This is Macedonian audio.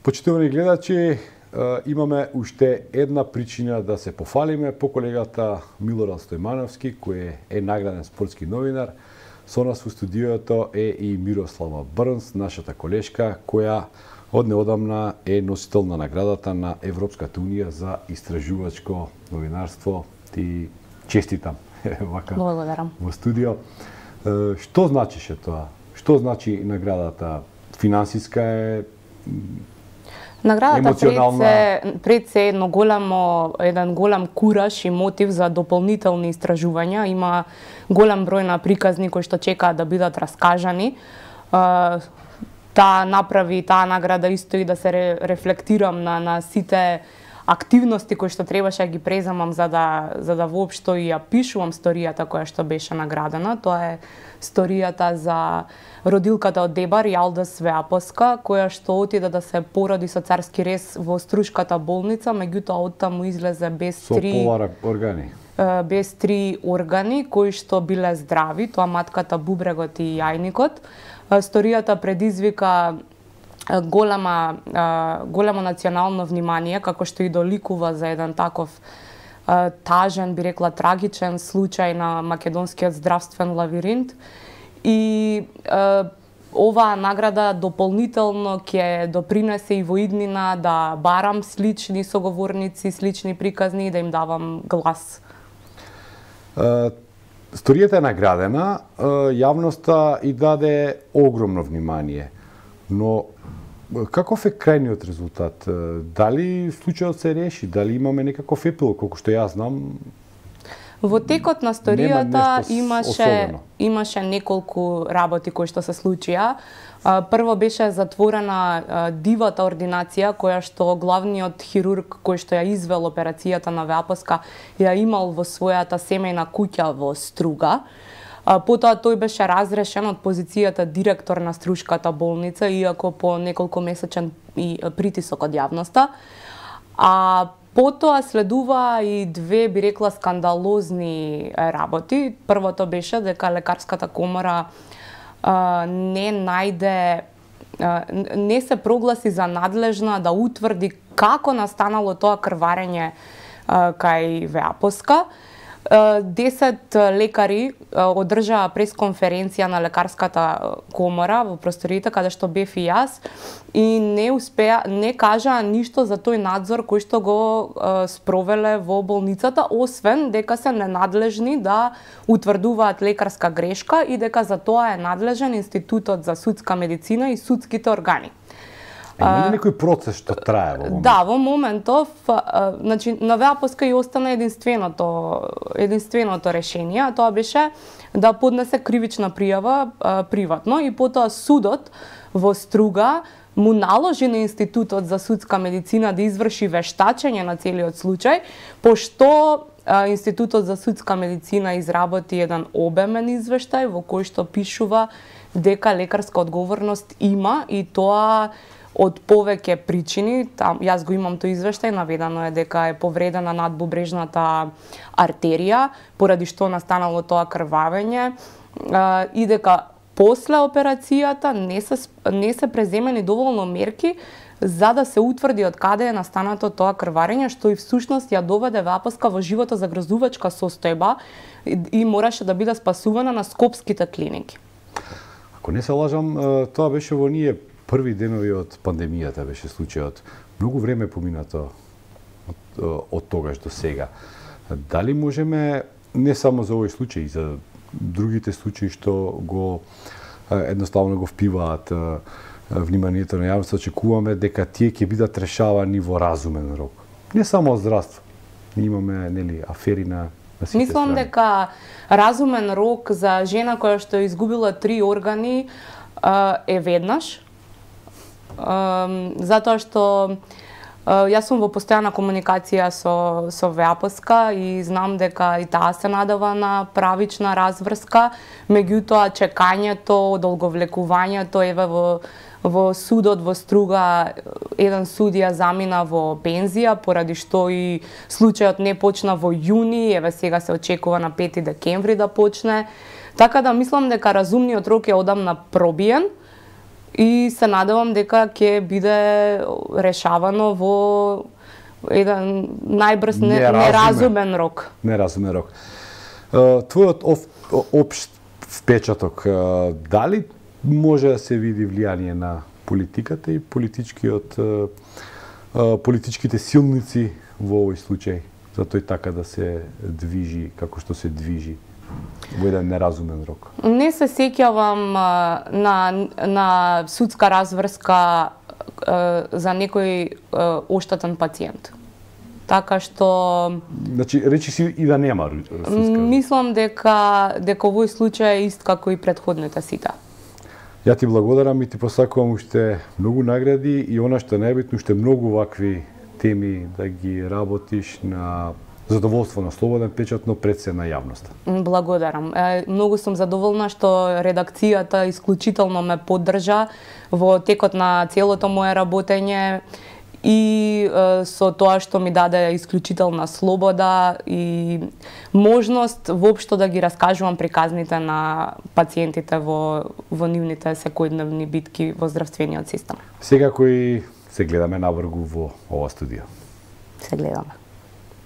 Почитувани гледачи, имаме уште една причина да се пофалиме по колегата Милорад Стојмановски, кој е награден спортски новинар. Со нас во студиото е и Мирослава Брнс, нашата колешка, која од неодамна е носител на наградата на Европската унија за истражувачко новинарство. Ти честитам вака во студио. Што значише тоа? Што значи наградата? Финансиска е, наградата пред се еден голем кураж и мотив за дополнителни истражувања. Има голем број на приказни кои што чекаат да бидат раскажани. Таа награда исто и да се рефлектирам на сите активности кои што требаше да ги преземам за да воопшто и ја пишувам сторијата која што беше наградена. Тоа е сторијата за родилката од Дебар, Јалда Свеапоска, која што отиде да се породи со царски рез во Струшката болница, меѓутоа оттаму излезе без три органи кои што биле здрави, тоа матката, бубрегот и јајникот. Сторијата предизвика големо национално внимание, како што и доликува за еден таков тажен, би рекла трагичен случај на македонскиот здравствен лавиринт. И оваа награда дополнително ќе допринесе и во иднина да барам слични соговорници, слични приказни и да им давам глас. Сторијата е наградена, јавноста и даде огромно внимание, но каков е крајниот резултат? Дали случајот се реши? Дали имаме некаков епилог, колку што јас знам? Во текот на сторијата имаше неколку работи кои што се случија. Прво беше затворена дивата ординација која што главниот хирург кој што ја извел операцијата на Веапоска ја имал во својата семејна куќа во Струга. Потоа тој беше разрешен од позицијата директор на Струшката болница, иако по неколку месечен притисок од јавноста. Потоа следува и две, би рекла, скандалозни работи. Првото беше дека лекарската комора не се прогласи за надлежна да утврди како настанало тоа крварење кај Веапоска. 10 лекари одржаа пресконференција на лекарската комора во просториите каде што бев и јас и не кажаа ништо за тој надзор кој што го спровеле во болницата, освен дека се ненадлежни да утврдуваат лекарска грешка и дека за тоа е надлежен Институтот за судска медицина и судските органи. Има ли некој процес што трае во моментов? Да, во моментов, значи, на Веапоска и остана единственото решение, а тоа беше да поднесе кривична пријава приватно и потоа судот во Струга му наложи на Институтот за судска медицина да изврши вештачење на целиот случај, пошто Институтот за судска медицина изработи еден обемен извештај во кој што пишува дека лекарска одговорност има и тоа од повеќе причини. Јас го имам тој извештај, наведено е дека е повредена надбубрежната артерија, поради што настанало тоа крвавење и дека после операцијата не се преземени доволно мерки за да се утврди од каде е настанато тоа крварење, што и всушност ја доведе Веапоска во животозагрозувачка состојба и мораше да биде спасувана на скопските клиники. Ако не се лажам, тоа беше во ние први денови од пандемијата беше случајот. Многу време поминато од тогаш до сега. Дали можеме, не само за овој случај, и за другите случаи што едноставно го впиваат вниманието на јавноста, очекуваме дека тие ќе бидат решавани во разумен рок. Не само од здравство. Имаме, афери на сите Мислам страни. дека разумен рок за жена која што изгубила 3 органи е веднаш. Затоа што јас сум во постојана комуникација со Веапоска и знам дека и таа се надава на правична разврска, меѓутоа чекањето, одолговлекувањето, еве во судот во Струга еден судија замина во пензија, поради што и случајот не почна во јуни, еве сега се очекува на 5 декември да почне. Така да мислам дека разумниот рок е одамна пробиен. и се надевам дека ќе биде решавано во еден најбрз неразумен рок. Неразумен рок. Твојот општ впечаток, дали може да се види влијание на политиката и политичките силници во овој случај, за тој така да се движи како што се движи во еден неразумен рок? Не се сеќавам на судска разврска за некој оштетен пациент. Така што... Значи, речи си и да нема судска. Мислам дека овој случај е ист како и претходните сите. Ја ти благодарам и ти посакувам уште многу награди и она што е најбитно, уште многу вакви теми да ги работиш на задоволство на Слободен печат, но пред се на јавноста. Благодарам. Многу сум задоволна што редакцијата исклучително ме поддржа во текот на целото мое работење и со тоа што ми даде исклучителна слобода и можност воопшто да ги раскажувам приказните на пациентите во нивните секојдневни битки во здравствениот систем. Секако и се гледаме навргу во ова студио. Се гледаме.